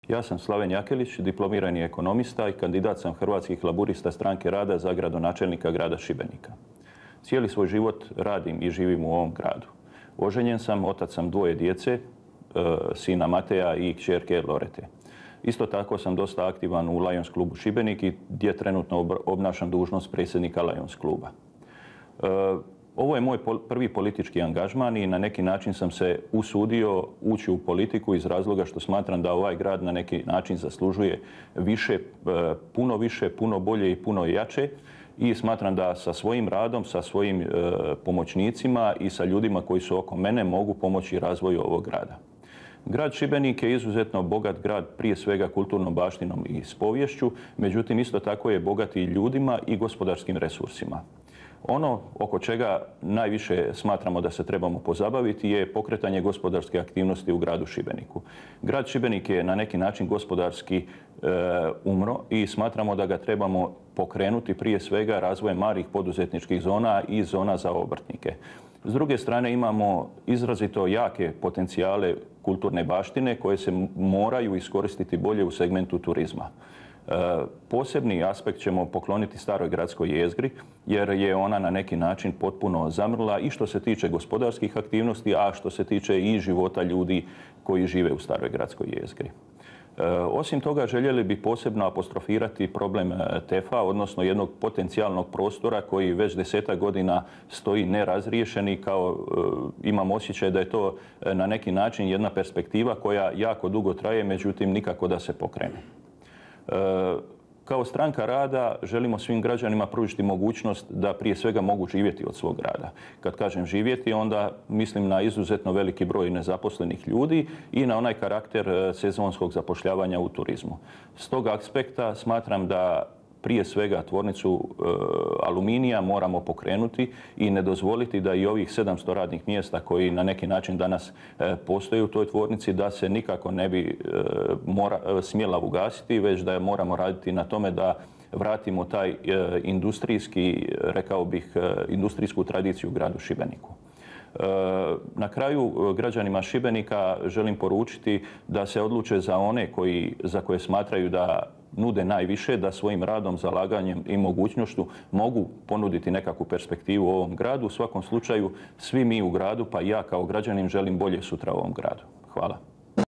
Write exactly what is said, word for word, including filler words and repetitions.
Ja sam Slaven Jakelić, diplomirani ekonomista i kandidat sam Hrvatskih laburista Stranke rada za gradonačelnika grada Šibenika. Cijeli svoj život radim i živim u ovom gradu. Oženjen sam, otac sam dvoje djece, sina Mateja i kćerke Lorete. Isto tako sam dosta aktivan u Lions klubu Šibenik i gdje trenutno obnašam dužnost predsjednika Lions kluba. Ovo je moj prvi politički angažman i na neki način sam se usudio ući u politiku iz razloga što smatram da ovaj grad na neki način zaslužuje više, puno više, puno bolje i puno jače. I smatram da sa svojim radom, sa svojim pomoćnicima i sa ljudima koji su oko mene mogu pomoći razvoju ovog grada. Grad Šibenik je izuzetno bogat grad, prije svega kulturnom baštinom i s poviješću, međutim isto tako je bogat i ljudima i gospodarskim resursima. Ono oko čega najviše smatramo da se trebamo pozabaviti je pokretanje gospodarske aktivnosti u gradu Šibeniku. Grad Šibenik je na neki način gospodarski e, umro i smatramo da ga trebamo pokrenuti prije svega razvojem malih poduzetničkih zona i zona za obrtnike. S druge strane imamo izrazito jake potencijale kulturne baštine koje se moraju iskoristiti bolje u segmentu turizma. Posebni aspekt ćemo pokloniti staroj gradskoj jezgri jer je ona na neki način potpuno zamrla i što se tiče gospodarskih aktivnosti, a što se tiče i života ljudi koji žive u staroj gradskoj jezgri. Osim toga, željeli bi posebno apostrofirati problem T E F-a, odnosno jednog potencijalnog prostora koji već desetak godina stoji nerazriješen i kao imam osjećaj da je to na neki način jedna perspektiva koja jako dugo traje, međutim nikako da se pokrene. Kao Stranka rada želimo svim građanima pružiti mogućnost da prije svega mogu živjeti od svog rada. Kad kažem živjeti, onda mislim na izuzetno veliki broj nezaposlenih ljudi i na onaj karakter sezonskog zapošljavanja u turizmu. S tog aspekta smatram da prije svega tvornicu e, aluminija moramo pokrenuti i ne dozvoliti da i ovih sedamsto radnih mjesta koji na neki način danas e, postoje u toj tvornici da se nikako ne bi e, mora, smjela ugasiti, već da moramo raditi na tome da vratimo taj e, industrijski, rekao bih, e, industrijsku tradiciju u gradu Šibeniku. Na kraju građanima Šibenika želim poručiti da se odluče za one koji, za koje smatraju da nude najviše, da svojim radom, zalaganjem i mogućnošću mogu ponuditi nekakvu perspektivu u ovom gradu. U svakom slučaju, svi mi u gradu, pa i ja kao građanin, želim bolje sutra u ovom gradu. Hvala.